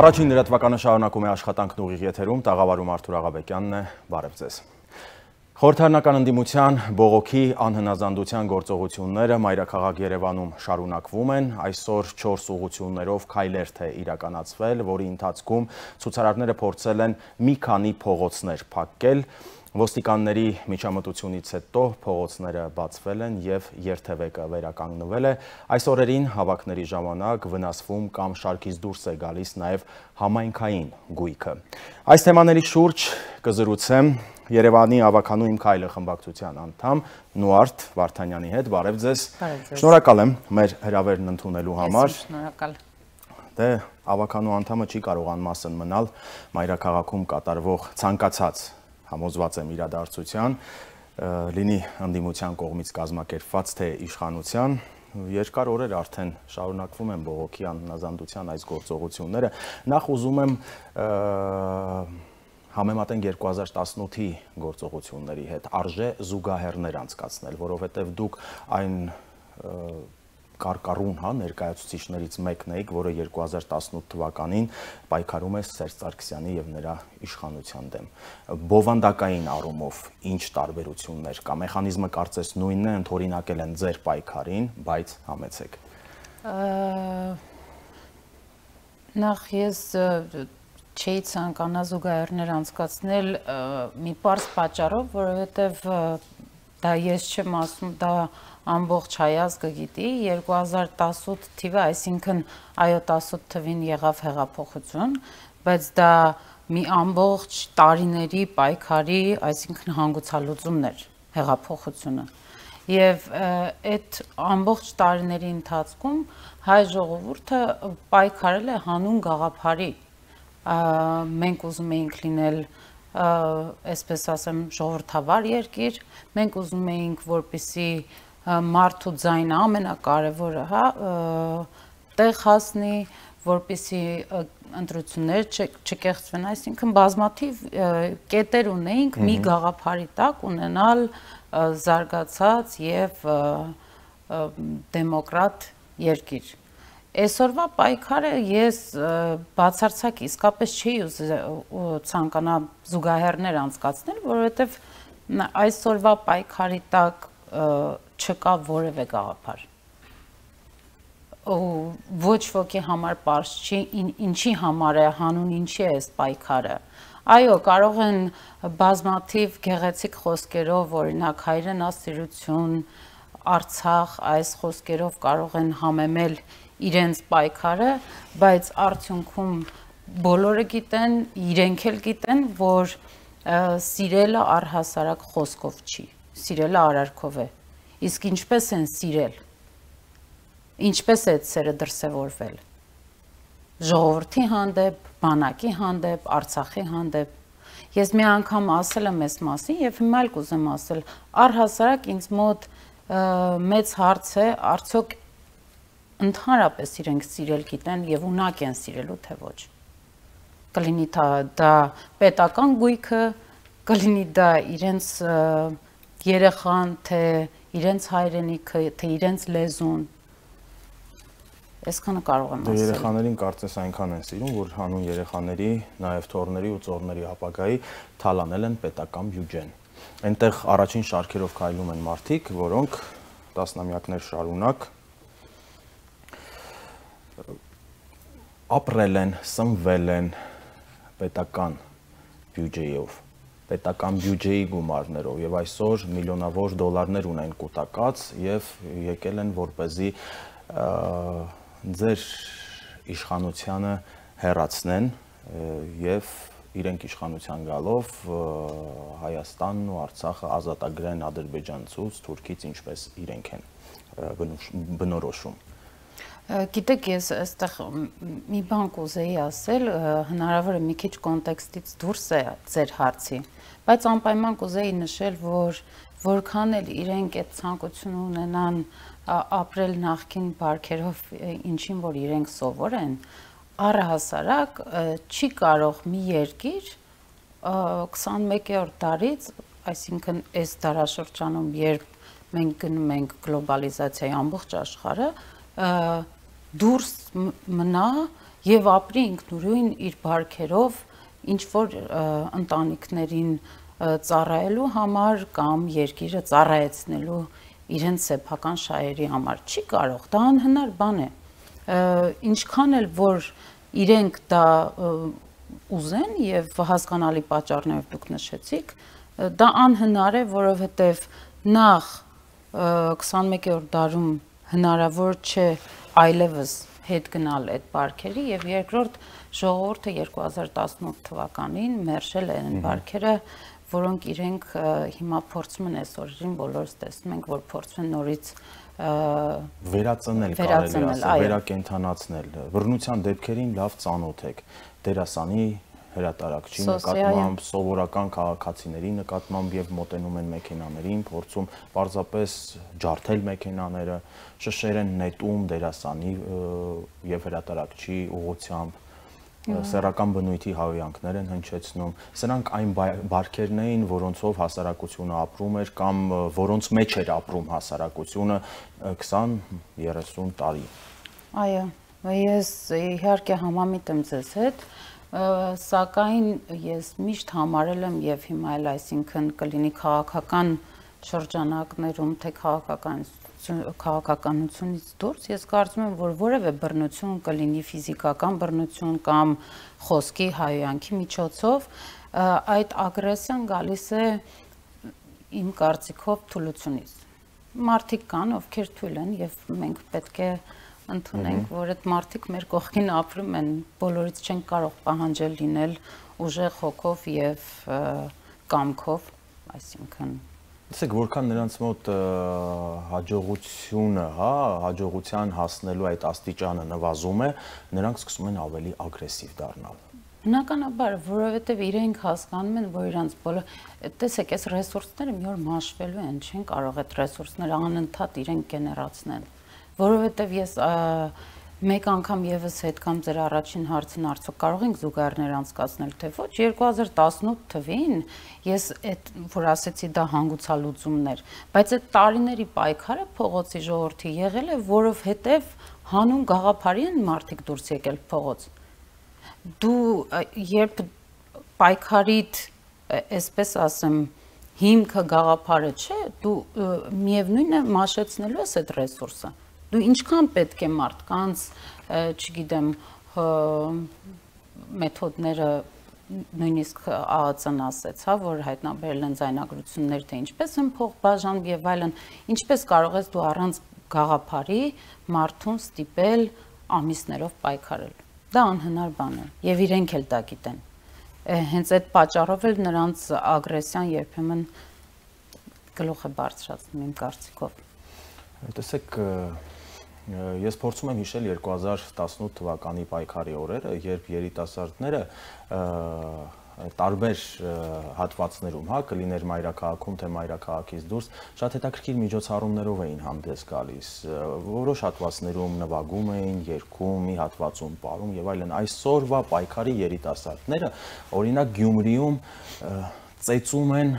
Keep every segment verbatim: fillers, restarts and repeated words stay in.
Առաջին լրատվականը շարունակում է աշխատանքն ուղիղ եթերում, տաղավարում Արթուր Աղաբեկյանն է, բարև ձեզ։ Խորհրդարանական ընդդիմության բողոքի անհնազանդության գործողությունները մայրաքաղաք Երևանում շարունակվում են, այսօր չորս ուղղություններով քայլերթ է իրականացվել, որի ընթացքում ցուցարարները փորձել են մի քանի փողոցներ փակել, ոստիկանների միջամտությունից հետո փողոցները բացվել են եւ երթևեկը վերականգնվել է, այս օրերին հավաքների ժամանակ վնասվում կամ շարքից դուրս է գալիս նաեւ համայնքային գույքը։ Այս թեմաների շուրջ կզրուցեմ Երևանի ավականու իմ քայլը խմբակցության անդամ Նուարդ Վարդանյանի հետ, բարև ձեզ։ Շնորհակալ եմ մեր հրավերն ընդունելու համար։ Շնորհակալ։ Դե ավականու անդամը չի կարող անմասն մնալ մայրաքաղաքում կատարվող ցանկացած համոզված եմ իրադարձության, լինի ընդդիմության կողմից կազմակերպված թե իշխանության, երկար օրեր արդեն շարունակվում են բողոքի անհնազանդության այս գործողությունները, նախ ուզում եմ համեմատենք երկու հազար տասնութի գործողությունների հետ, արժե զուգահեռներ անցկացնել, որովհետև դուք այն կարկառուն հա, ներկայացուցիչներից մեկն էիք, որը երկու հազար տասնութ թվականին պայքարում է Սերժ Սարգսյանի եւ նրա իշխանության դեմ։ Բովանդակային առումով ինչ տարբերություններ կա, մեխանիզմը կարծես նույնն է, ընդօրինակել են ձեր պայքարին, բայց համեցեք։ Նախ ես չէի ցանկանա զուգահեռներ անցկացնել մի պարզ պատճառով, որովհետև դա ես չեմ ասում, դա ամբողջ հայազգը գիտի, երկու հազար տասնութ թիվը, այսինքն այո տասնութ թվին եղավ հեղափոխություն, բայց դա մի ամբողջ տարիների պայքարի, այսինքն հանգուցալուծումն էր հեղափոխությունը։ Եվ այդ ամբողջ տարիների ընթացքում հայ ժողովուրդը պայքարել է հանուն գաղափարի։ Մենք ուզում էինք լինել, այսպես ասեմ, ժողովրդավար երկիր, մենք ուզում էինք, որպեսզի մարդու ձայնը ամենակարևորը, հա, տեղ հասնի, որպեսզի ընտրություններ չկեղծվեն, այսինքն բազմաթիվ կետեր ունեինք մի գաղափարի տակ ունենալ զարգացած եւ դեմոկրատ երկիր։ Այսօրվա պայքարը ես բացարձակ իսկապես չի ցանկանա զուգահեռներ անցկացնել, որովհետև այսօրվա պայքարի տակ չկա որևէ գաղափար։ Ոչ ոքի համար պարզ չի, ինչի համար է, հանուն ինչի է այս պայքարը։ Այո, կարող են բազմաթիվ գեղեցիկ խոսքերով, օրինակ հայրենասիրություն, Արցախ, այս խոսքերով կարող են համեմել իրենց պայքարը, բայց արդյունքում բոլորը գիտեն, իրենք էլ գիտեն, որ սիրելը առհասարակ խոսքով չի, սիրելը արարքով է, իսկ ինչպես են սիրել, ինչպես է այդ սերը դրսևորվել, ժողովրդի հանդեպ, բանակի հանդեպ, Արցախի հանդեպ, ես մի անգամ ասել եմ այս մասին և հիմա էլ կուզեմ ասել, առհասարակ ինձ մոտ մեծ հարց է, արդյոք ընդհանրապես իրենք սիրել գիտեն և ունակ են սիրելու թե ոչ, կլինի դա պետական գույքը, կլինի դա իրենց երեխան, թե իրենց հայրենիքը, թե իրենց լեզուն, այսքանը կարող եմ ասել։ Երեխաներին կարծես այնքան են սիրում, որ հանուն երեխաների, նաև թոռների ու ծոռների ապագայի թալանել են պետական բյուջեն։ Այնտեղ առաջին շարքերով քայլում են մարդիկ, որոնք տասնամյակներ շարունակ ապրել են, սնվել են պետական բյուջեով, պետական բյուջեի գումարներով եւ այսօր միլիոնավոր դոլարներ ունեն կուտակած եւ եկել են որպեսզի ձեր իշխանությանը հեռացնեն եւ իրենք իշխանության գալով Հայաստանն ու Արցախը ազատագրեն ադրբեջանցուց, թուրքից, ինչպես իրենք են բնորոշում։ Գիտեք, ես այստեղ մի բան կուզեի ասել, հնարավոր է մի քիչ կոնտեքստից դուրս է ձեր հարցի, բայց անպայման կուզեի նշել, որ որքան էլ իրենք այդ ցանկությունը ունենան ապրել նախկին բարքերով, ինչին որ իրենք սովոր են, առհասարակ չի կարող մի երկիր քսանմեկերորդ դարից, այսինքն այս դարաշրջանում, երբ մենք գնում ենք գլոբալիզացիայի ամբողջ աշխարհը, դուրս մնա եւ ապրի ինքնուրույն իր բարքերով ինչ որ ընտանիքներին ծառայելու համար կամ երկիրը ծառայեցնելու իրենց սեփական շահերի համար չի կարող, դա անհնար բան է։ Ինչքան էլ որ իրենք դա ուզեն եւ հասկանալի պատճառներով դուք նշեցիք, դա անհնար է, որովհետեւ նախ քսանմեկերորդ դարում հնարավոր չէ այլևս հետ գնալ այդ բարքերի եւ երկրորդ ժողովուրդը երկու հազար տասնութ թվականին մերժել են բարքերը, որոնք իրենք հիմա փորձում են այսօրին բոլորս տեսնում ենք, որ փորձում են նորից վերածնել, կարելի ասել, վերակենդանացնել։ Բռնության դեպքերին լավ ծանոթ եք։ Դերասանի, հրատարակչի նկատմամբ, սովորական քաղաքացիների նկատմամբ եւ մոտենում են մեքենաներին, փորձում պարզապես ջարդել մեքենաները, շշեր են նետում դերասանի եւ հրատարակչի ուղղությամբ, սեռական բնույթի հավյանքներ են հնչեցնում։ Սրանք այն բարքերն էին, որոնցով հասարակությունը ապրում էր կամ որոնց մեջ էր ապրում հասարակությունը քսան երեսուն տարի։ Այո, ես իհարկե համամիտ եմ ձեզ հետ, սակայն ես միշտ համարել եմ եւ հիմա էլ, այսինքն կլինի քաղաքական շրջանակներում, թե քաղաքական քաղաքականությունից դուրս, ես կարծում եմ, որ որևէ բռնություն կլինի ֆիզիկական բռնություն կամ խոսքի հայհոյանքի միջոցով, այդ ագրեսիան գալիս է իմ կարծիքով թուլությունից։ Մարդիկ կան, ովքեր թույլ են եւ մենք պետք է ընդունենք, որ այդ մարդիկ մեր կողքին ապրում են, բոլորից չեն կարող պահանջել լինել ուժեղ հոգով եւ կամքով, այսինքն Տեսեք, որքան նրանց մոտ հաջողությունը, հա, հաջողության հասնելու այդ աստիճանը նվազում է, նրանք սկսում են ավելի ագրեսիվ դառնալ։ Բնականաբար, որովհետև իրենք հասկանում են, որ իրանց բոլոր, տեսեք, այս ռեսուրսները մի օր մաշվելու են, չեն կարող այդ ռեսուրսները անընդհատ իրենք գեներացնել, որովհետև ես մեկ անգամ եւս հետ կամ ձեր առաջին հարցին արդյոք կարող ենք զուգահեռներ անցկացնել, թե ոչ, երկու հազար տասնութ թվին ես այդ որ ասեցի դա հանգուցալուծումներ, բայց այդ տարիների պայքարը փողոցի ժողովրդի եղել է, որովհետեւ հանուն գաղափարի են մարդիկ դուրս եկել փողոց։ Դու երբ պայքարիդ, այսպես ասեմ, հիմքը գաղափարը չէ, դու միևնույն է մաշեցնելու ես այդ ռեսուրսը։ Դու ինչքան պետք է մարդկանց, չգիտեմ, մեթոդները նույնիսկ ԱԱՑ-ն ասեց, հա, որ հայտնաբերել են ձայնագրություններ, թե ինչպես են փող բաժանում եւ այլն, ինչպես կարող ես դու առանց գաղափարի մարդուն ստիպել ամիսներով պայքարել։ Դա անհնար բան է եւ իրենք էլ դա գիտեն։ Հենց այդ պատճառով էլ նրանց ագրեսիան երբեմն գլուխ է բարձրացնում իմ կարծիքով։ Տեսեք, ես փորձում եմ հիշել երկու հազար տասնութ թվականի պայքարի օրերը, երբ երիտասարդները տարբեր հատվածներում, հա, կլիներ մայրաքաղաքում, թե մայրաքաղաքից դուրս, շատ հետաքրքիր միջոցառումներով էին հանդես գալիս, որոշ հատվածներում նվագում էին, երգում, մի հատվածում պարում եւ այլն։ Այսօրվա պայքարի երիտասարդները, օրինակ Գյումրիում ծեծում են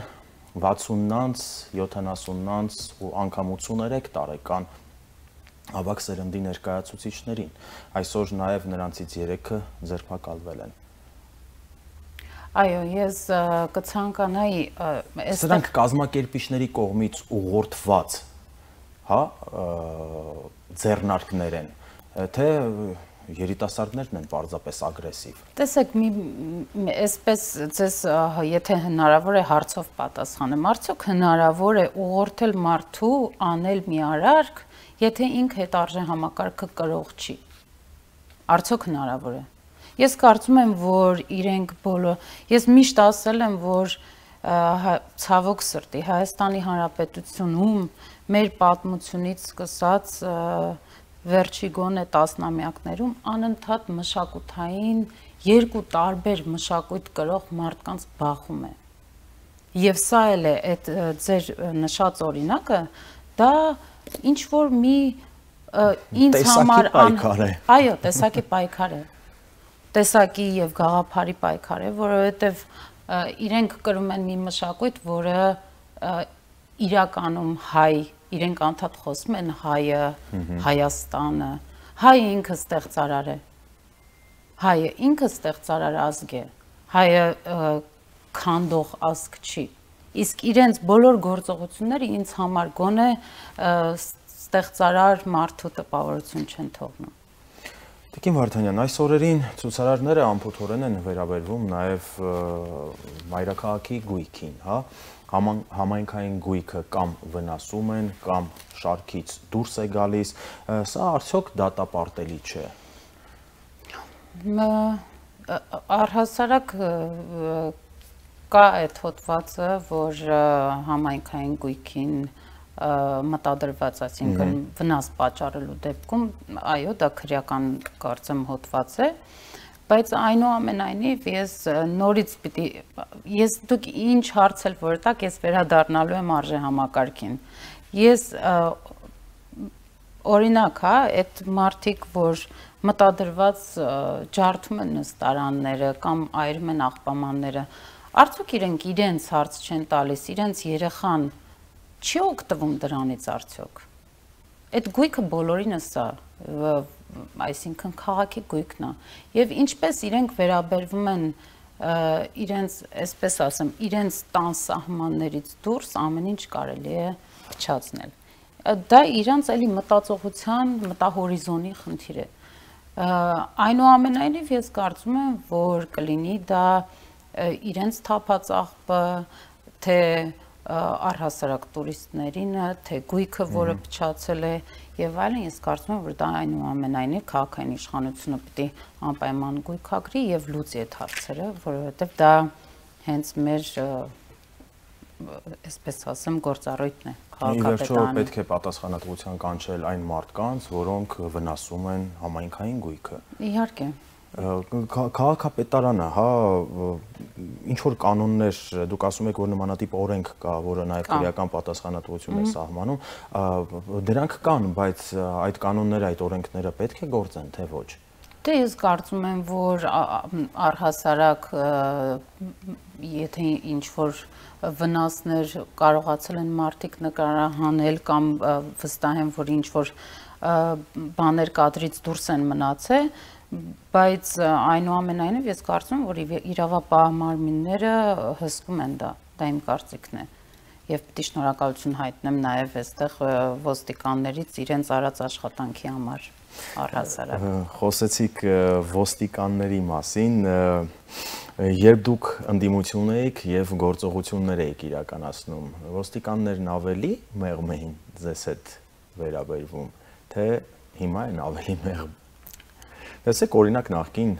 վաթսուննանց, յոթանասուննանց ու անգամ ութսուներեք տարեկան ավագ սերնդի ներկայացուցիչներին։ Այսօր նաև նրանցից երեքը ձերբակալվել են։ Այո, ես կցանկանայի Սրանք կազմակերպիչների կողմից ուղղորդված, հա, ձեռնարկներ են, թե երիտասարդներն են պարզապես ագրեսիվ։ Տեսեք, այսպես ձեզ եթե հնարավոր է հարցով պատասխանեմ, արդյոք հնարավոր է ուղղորդել մարդու անել մի արարք, եթե ինքը այդ արժե համակարգը կրող չի։ Արդյոք հնարավոր է։ Ես կարծում եմ, որ իրենք բոլոր, ես միշտ ասել եմ, որ ցավոք սրտի Հայաստանի Հանրապետությունում մեր պատմությունից սկսած վերջի գոնե տասնամյակներում անընդհատ մշակութային երկու տարբեր մշակույթ կրող մարդկանց բախում է։ Եվ սա էլ է այդ ձեր նշած օրինակը, դա ինչ որ մի ինձ համար այո, տեսակի պայքար է։ Տեսակի եւ գաղափարի պայքար է, որովհետեւ իրենք կրում են մի մշակույթ, որը իրականում հայ, իրենք անդադ խոսում են հայը, Հայաստանը, հայը ինքը ստեղծարար է։ հայը ինքը ստեղծարար ազգ է, հայը քանդող ազգ չի։ Իսկ իրենց բոլոր գործողությունները ինձ համար գոնե ստեղծարար մարդու տպավորություն չեն թողնում։ Տիկին Վարդանյան, այս օրերին ցուցարարները անփոթորեն են վերաբերվում նաև մայրաքաղաքի գույքին, հա, համայնքային գույքը կամ վնասում են, կամ շարքից դուրս է գալիս, սա արդյոք դատապարտելի չէ։ Առհասարակ կա այդ հոդվածը, որ համայնքային գույքին մտադրված, այսինքն վնաս պատճառելու դեպքում, այո, դա քրեական կարծեմ հոդված է, բայց այնուամենայնիվ ես նորից պիտի, ես դուք ինչ հարց էլ որ տաք, ես վերադառնալու եմ արժեհամակարգին։ Ես օրինակ, հա, այդ մարդիկ, որ մտադրված ջարդում են նստարանները կամ այրում են աղբամանները, արդյոք իրենք իրենց հարց չեն տալիս, իրենց երեխան չի օգտվում դրանից արդյոք։ Այդ գույքը բոլորինս է, այսինքն քաղաքի գույքն է։ Եվ ինչպես իրենք վերաբերվում են իրենց, այսպես ասեմ, իրենց տան սահմաններից դուրս ամեն ինչ կարելի է փչացնել։ Դա իրենց էլի մտածողության, մտահորիզոնի խնդիր է։ Այնուամենայնիվ ես կարծում եմ, որ կլինի դա իրենց թափած աղբը, թե առհասարակ տուրիստներին, թե գույքը, որը փչացել է եւ այլն, ես կարծում եմ, որ դա այնուամենայնիվ քաղաքային իշխանությունը պիտի անպայման գույքագրի եւ լուծի այդ հարցերը, որովհետեւ դա հենց մեր, այսպես ասեմ, գործառույթն է քաղաքապետարանի։ Պետք է պատասխանատվության կանչել այն մարդկանց, որոնք վնասում են համայնքային գույքը։ Իհարկե։ Քաղաքապետարանը, հա, ինչ որ կանոններ, դուք ասում եք, որ նմանատիպ օրենք կա, որը նաև քրեական պատասխանատվություն է սահմանում, դրանք կան, բայց այդ կանոնները, այդ օրենքները պետք է գործեն, թե ոչ։ Դե ես կարծում եմ, որ առհասարակ, եթե ինչ որ վնասներ կարողացել են մարդիկ նկարահանել կամ վստահ են, որ ինչ որ բաներ կադրից դուրս են մնացել, բայց այնուամենայնիվ ես կարծում եմ, որ իրավապահ մարմինները հսկում են դա, դա իմ կարծիքն է։ Եվ պիտի շնորհակալություն հայտնեմ նաև այստեղ ոստիկաններից իրենց արած աշխատանքի համար առհասարակ։ Խոսեցիք ոստիկանների մասին, երբ դուք ընդդիմություն էիք եւ գործողություններ էիք իրականացնում, ոստիկաններն ավելի մեղմ էին ձեզ հետ վերաբերվում, թե հիմա են ավելի մեղմ։ Տեսեք, օրինակ նախկին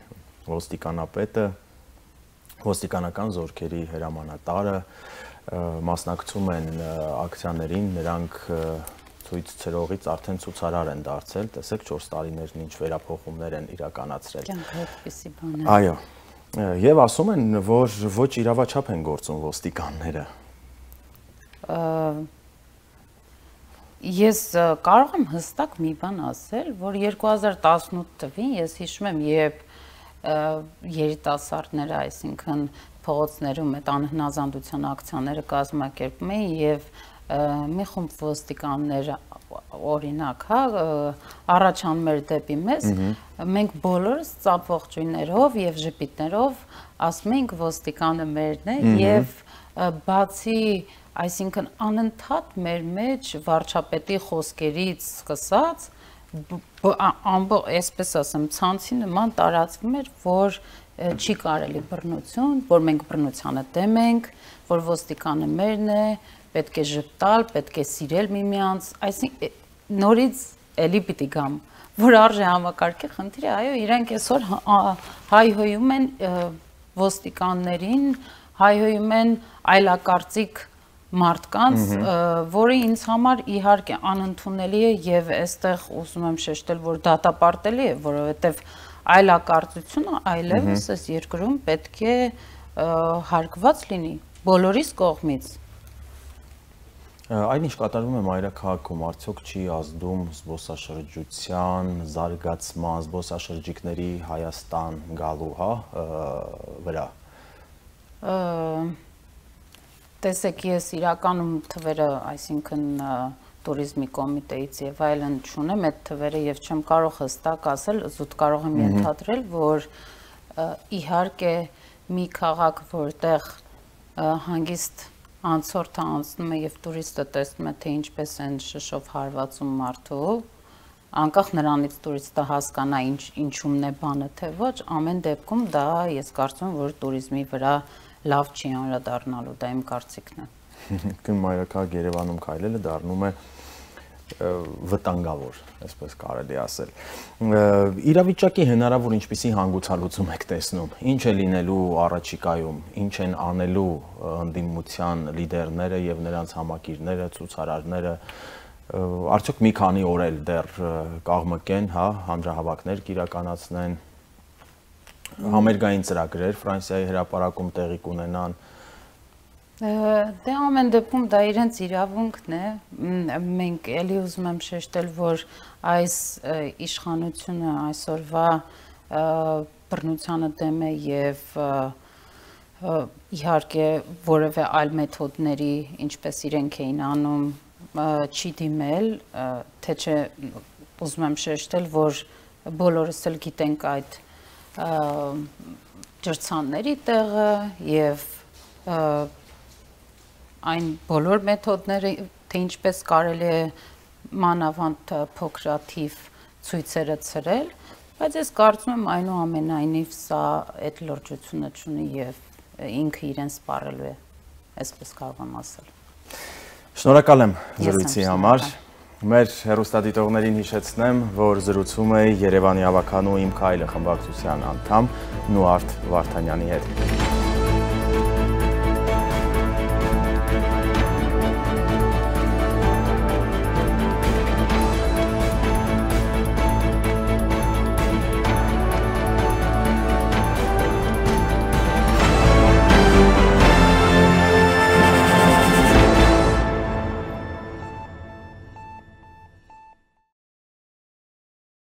ոստիկանապետը, ոստիկանական զորքերի հրամանատարը մասնակցում են ակցիաներին, նրանք ցույց ցրողից արդեն ցուցարար են դարձել, տեսեք չորս տարիներն ինչ վերափոխումներ են իրականացրել։ Կյանքը այդպիսի բան է։ Այո։ Եվ ասում են, որ ոչ իրավաչափ են գործում ոստիկանները։ Ես կարող եմ հստակ մի բան ասել, որ երկու հազար տասնութ թվականին ես հիշում եմ, երբ երիտասարդները, այսինքն փողոցներում այդ անհնազանդության ակցիաները կազմակերպում էին եւ մի խումբ ոստիկաններ, օրինակ, հա, առաջանում էր դեպի մեզ, մենք բոլորս ծափող ճույներով եւ ժպիտներով ասում էինք ոստիկանը մերն է եւ բացի, այսինքն անընդհատ մեր մեջ վարչապետի խոսքերից սկսած, այսպես ասեմ, ցանցի նման տարածվում էր, որ չի կարելի բռնություն, որ մենք բռնությանը դեմ ենք, որ ոստիկանը մերն է, պետք է ժպտալ, պետք է սիրել միմյանց, այսինքն նորից էլի պիտի գամ, որ արժե համակարգի խնդիր է, այո, իրենք այսօր հայհոյում են ոստիկաններին, հայհոյում են այլակարծիք մարդկանց, որը ինձ համար իհարկե անընդունելի է եւ այստեղ ուզում եմ շեշտել, որ դատապարտելի է, որովհետեւ այլակարծությունը այլևս այս երկրում պետք է հարգված լինի բոլորիս կողմից։ Այն ինչ կատարվում է մայրաքաղաքում, արդյոք չի ազդում զբոսաշրջության զարգացման, զբոսաշրջիկների Հայաստան գալու, հա, վրա։ Տեսեք, ես իրականում թվերը, այսինքն туrizմի կոմիտեից եւ այլն չունեմ այդ թվերը եւ չեմ կարող հստակ ասել, զուտ կարող եմ ենթադրել, որ իհարկե մի քաղաք, որտեղ հանգիստ անցորդը անցնում է եւ տուրիստը տեսնում է, թե ինչպես են շշով հարվածում մարդու, անկախ նրանից տուրիստը հասկանա ինչ ինչումն է բանը, թե ոչ, ամեն դեպքում դա ես կարծում եմ, որ туриզմի վրա լավ չի անդրադառնալու, դա իմ կարծիքն է։ Կին մայրաքաղաք Երևանում քայլելը դառնում է վտանգավոր, այսպես կարելի ասել։ Իրավիճակի հնարավոր ինչպիսի հանգուցալուծում եք տեսնում, ինչ է լինելու առաջիկայում, ինչ են անելու ընդդիմության լիդերները եւ նրանց համակիրները, ցուցարարները, արդյոք մի քանի օր էլ դեռ կաղմկեն, հա, հանրահավաքներ կիրականացնեն, համերգային ծրագրեր Ֆրանսիայի հրապարակում տեղի կունենան։ Դե ամեն դեպքում դա իրենց իրավունքն է, մենք էլի ուզում եմ շեշտել, որ այս իշխանությունը այսօրվա բռնությանը դեմ է եւ իհարկե որևէ այլ մեթոդների, ինչպես իրենք էին անում, չի դիմել, թե չէ ուզում եմ շեշտել, որ բոլորս էլ գիտենք այդ ջրցանների տեղը եւ այն բոլոր մեթոդները, թե ինչպես կարելի է մանավանդ փոքրաթիվ ցույցերը ցրել, բայց ես կարծում եմ այնուամենայնիվ սա այդ լրջությունը չունի եւ ինքը իրեն սպառելու է, այսպես կարող եմ ասել։ Շնորհակալ եմ զրույցի համար։ Մեր հեռուստադիտողներին հիշեցնեմ, որ զրուցում էի Երևանի ավականու Իմ քայլը խմբակցության անդամ Նուարդ Վարդանյանի հետ։